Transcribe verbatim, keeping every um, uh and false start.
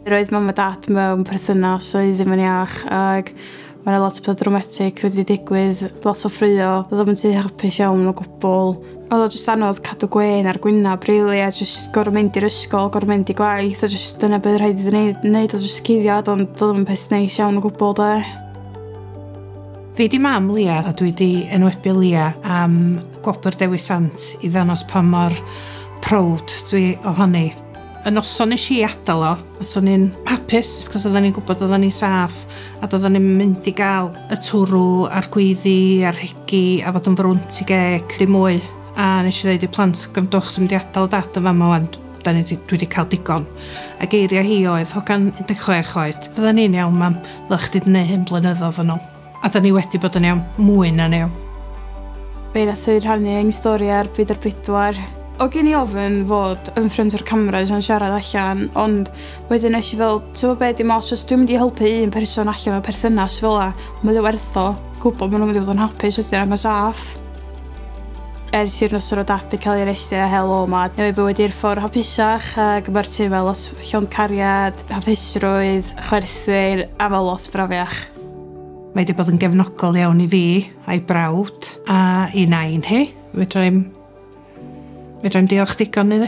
Roedd mam a dad mewn perthynas oedd ddim yn iach, ac mae 'na lot o pethau dramatic wedi digwydd, lot o ffraeo, oedd o'm yn tŷ hapus iawn o gwbl. Oedd o jyst anodd cadw gwên ar gwynab, really, a jyst gorfod mynd i'r ysgol, gorfod mynd i gwaith, a jyst dyna beth rhaid iddi wneud, wneud oedd jyst cuddiad, ond doedd o'm yn peth neis iawn o gwbl, de. Fi di mam Lia a dwi di enwebu Lia am Gwobr Dewi Sant i ddangos pa mor proud dwi ohoni. Y noson nes i adael o, a so ni'n hapus, cos oedden ni'n gwybod oedden ni'n saff, a doedden ni'n mynd i gael y twrw a'r gweiddi a'r hegi a fod yn frwnt i geg, dim mwy. A nes i ddeud i'r plant, "Gwrandwch, dwi'n mynd i adael dad yn fama wan, da ni 'di, dwi wedi cael digon." A geiriau hi oedd, hogan un deg chwech oed, "Fydda ni'n iawn, mam, ddylech chdi 'di neud hyn blynyddoedd yn ôl." A da ni wedi bod yn iawn, mwy na'n iawn. Fe nath i rhannu ein stori ar Byd ar Bedwar. O gen i ofyn fod yn ffrind o'r cameras yn siarad allan, ond wedyn nes i fel, ti'n gwybod be, dim ots, os dwi'n mynd i helpu un person allan o perthynas fel 'a, mae o werth o, gwybod maen nhw'n mynd i fod yn hapus wedyn ac yn saff. Ers i'r noson o dad 'di cael ei arestio a hel o 'ma, newid bywyd i'r ffordd hapusach ac mae'r tŷ fel lot llond cariad, hapusrwydd, chwerthin a fel lot brafiach. Mae wedi bod yn gefnogol iawn i fi a'i brawd a i nain hi. Fedra i'm, fedra i'm diolch digon iddi.